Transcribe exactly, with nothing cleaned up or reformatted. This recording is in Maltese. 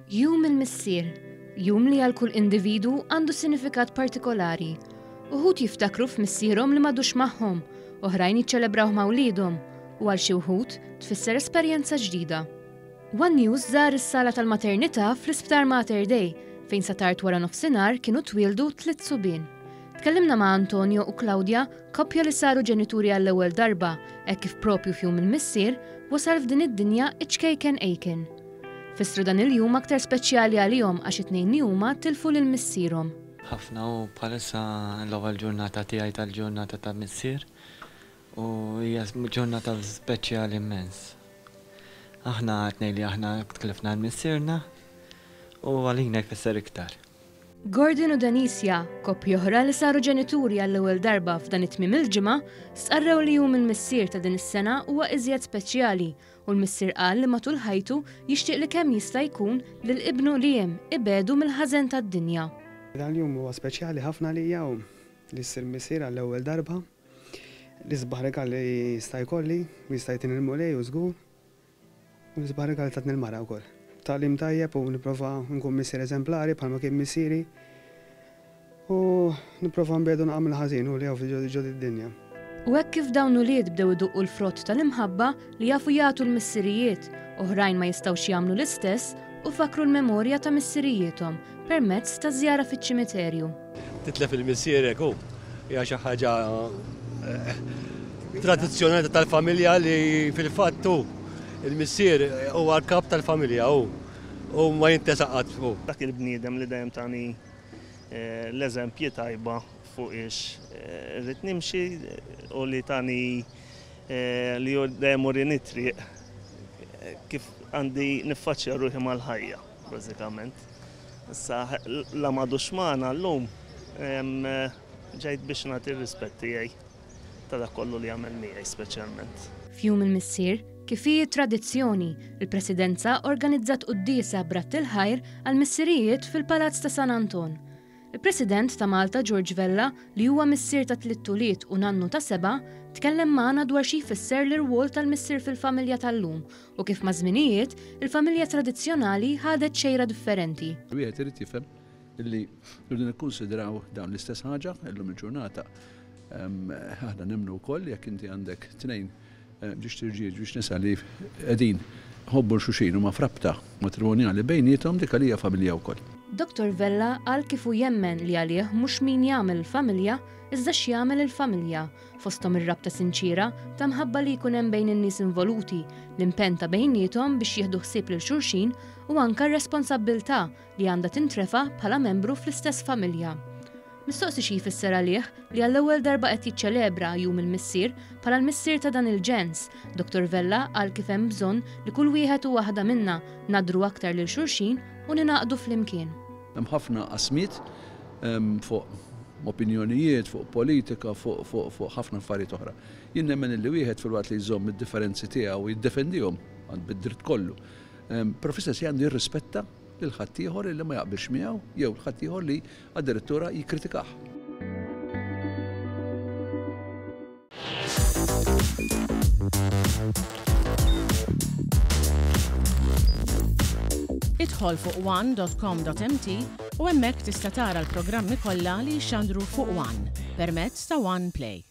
Jum il-Missier, jum li għal kull individu għandu sinifikat partikolari. Uħud jiftakru f'missierhom li m'għadux magħhom, oħrajn jiċċelebraw ma' wliedhom, u għal xi wħud tfisser esperjenza ġdida. One News żar is-sala tal-maternità fl-Isptar Mater Dei fejn sa tard wara nofsinhar kienu twieldu tliet subien. Tkellimna ma' Antonio u Claudia, koppja li saru ġenituri għall-ewwel darba, hekk kif propju f'jum il-missier wasal f'din id-dinja iċ-ċkejken Aiken. Fissru dan il-jum aktar speċjali għalihom għax it-tnejn li huma tilfu lil missierhom. Ħafna u bħalissa l-ewwel ġurnata tiegħi tal-ġurnata ta' missier u hija ġurnata speċjali immens. Aħna tnejn li aħna tlifna l-missierna u għalina jfisser iktar. Gordon u Denisia, koppja oħra li saru ġenituri għall-ewwel darba f'dan it-tmiem il-ġimgħa, stqarrew li jum il-missier ta' din is-sena huwa iżjed speċjali u l-missier qal li matul ħajtu jixtieq li kemm jista' jkun lil ibnu Liam ibegħdu mill-ħażen tad-dinja. Dan il-jum huwa speċjali ħafna lija u li ssir missier għall-ewwel darba. L-isbaħ rigal li jista' jkolli u jista' jtini l-Mulej u żgur. U l-isbaħ rigal tatni l-mara wkoll. Tagħlim tajjeb u nipprova nkun missier eżemplari bħalma kien missieri. U nipprova nbiegħdu nagħmel ħażin u li hawn ġo d-dinja. U hekk kif dawn ulied bdew iduqqu l-frott tal-imħabba li jafu jagħtu l-missirijiet, oħrajn ma jistgħux jagħmlu l-istess u fakru l-memorja ta' missirijiethom permezz ta' żjara fiċ-ċimiterju. Titlef il-missierek hu hija xi ħaġa tradizzjonali tal-familja li fil-fatt hu il-missier huwa l-kap tal-familja hu u ma jintesa qatt hu. Dak il-bniedem li dejjem tani l-eżempji tajba fuq ix irrid nimxi u li tani li dejjem urini triq kif għandi niffaċċja ruħi mal-ħajja, bażikament. Issa la m'għadux magħna llum ġejt biex nagħti r-rispett tiegħi ta' dak kollu li għamel miegħi speċjalment. F'jum il-missier, kif hi tradizzjoni, il-Presidenza organizzat quddiesa b'radd il-ħajr għal missirijiet fil-Palazz ta' San Anton. Il-President ta' Malta George Vella, li huwa missier ta' tliet ulied u nannu ta' seba', tkellem magħna dwar xi jfisser l-irwol tal-missier fil-familja tal-lum u kif ma' żminijiet il-familja tradizzjonali ħadet xejra differenti. Wieħed irid jifhem illi rridu nikkunsidraw dawn l-istess ħaġa illum il-ġurnata. Aħna nemmnu wkoll jekk inti għandek tnejn żewġt irġiel, żewġ nisa li qegħdin iħobbu xulxin u ma frabta matrimonjali bejniethom, dik għalija familja wkoll. Dottor Vella qal kif hu jemmen li għalih mhux min jagħmel il-familja iżda x'jagħmel il-familja, fosthom ir-rabta sinċira ta' mħabba li jkun hemm bejn in-nies involuti, l-impenn ta' bejniethom biex jieħdu ħsieb lil xulxin u anke r-responsabbiltà li għandha tintrefa' bħala membru fl-istess familja. Mistoqsi xi jfisser għalih li għall-ewwel darba qed jiċċelebra jum il-missier bħala l-missier ta' dan il-ġens, Dottor Vella qal kif hemm bżonn li kull wieħed u waħda minna nadru aktar lil xulxin u ninaqdu flimkien. Hemm ħafna qasmiet fuq opinjonijiet, fuq politika, fuq ħafna affarijiet oħra. Jien nemmen li wieħed filwaqt li jżomm id-differenzi tiegħu u jiddefendihom bid-dritt kollu. Però fl-istess għandu jirrispetta lil ħaddieħor li ma jaqbilx miegħu jew ħaddieħor li addirittura jikkritikah. Idħol fuq one dot com dot m t u hemmhekk tista' tara l-programmi kollha li jxandru fuq One permezz ta' One Play.